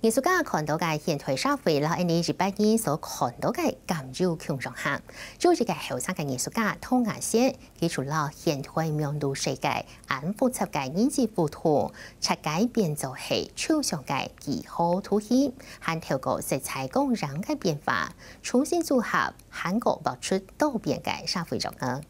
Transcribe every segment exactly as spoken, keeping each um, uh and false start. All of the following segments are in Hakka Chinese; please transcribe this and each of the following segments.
藝術家看到个現代社會摎𠊎俚一般人所看到个敢有共樣無？就一個後生个藝術家童雅仙，佢就摎現代網路世界恁複雜个人際互動，拆解變做係抽象个幾何圖形，還透過色彩光影个變化，重新組合，還過畫出多變个社會樣貌。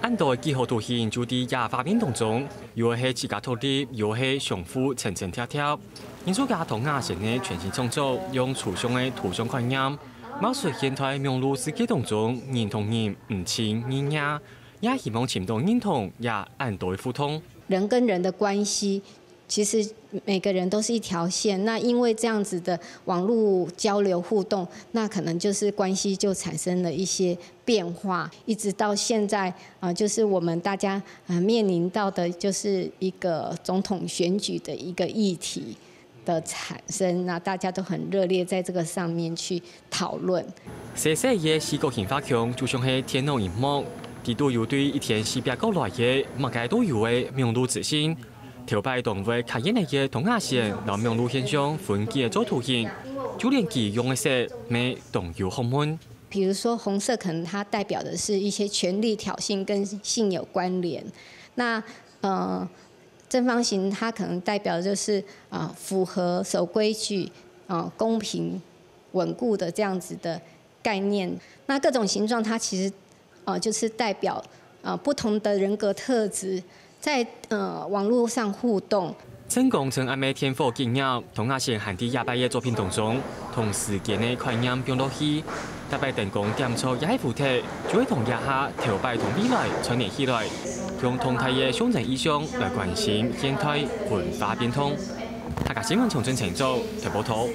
恁多个幾何圖形就在這畫面當中，有个係自家獨立，有个係相互層層疊疊。藝術家童雅仙个全新創作，用抽象个圖像概念，描述現代網路世界當中人同人毋親人惹，也希望尋到認同這恁多个互動。人跟人的關係，其實每個人都是一條線，那因為這樣子的網路交流互動，那可能就是關係就產生了一些變化，一直到現在，啊，就是我們大家，啊，面臨到的就是一個總統選舉的一個議題的產生，那大家都很熱烈在這個上面去討論。細細个四角形畫框就像係電腦螢幕，底肚有對一千四百角來个麼个都有个網路資訊。頭擺當會卡眼个童雅仙摎網路現象分解做圖形，就連佢用个色乜當有學問。比如說紅色可能它代表的是一些權力挑釁跟性有關聯，那，呃，正方形它可能代表的就是，呃，符合、守規矩、呃，公平、穩固的這樣子的概念。那各種形狀它其實，呃，就是代表，呃，不同的人格特質在，呃，網路上互動。成功成恁个電火結業，童雅仙還在這擺个作品當中，同時間个概念放落去，逐擺燈光點著這个主題，就會同這下、頭擺同未來串聯起來，用動態个象徵意象來關心現代文化變動。客家新聞長春陳祖台報導。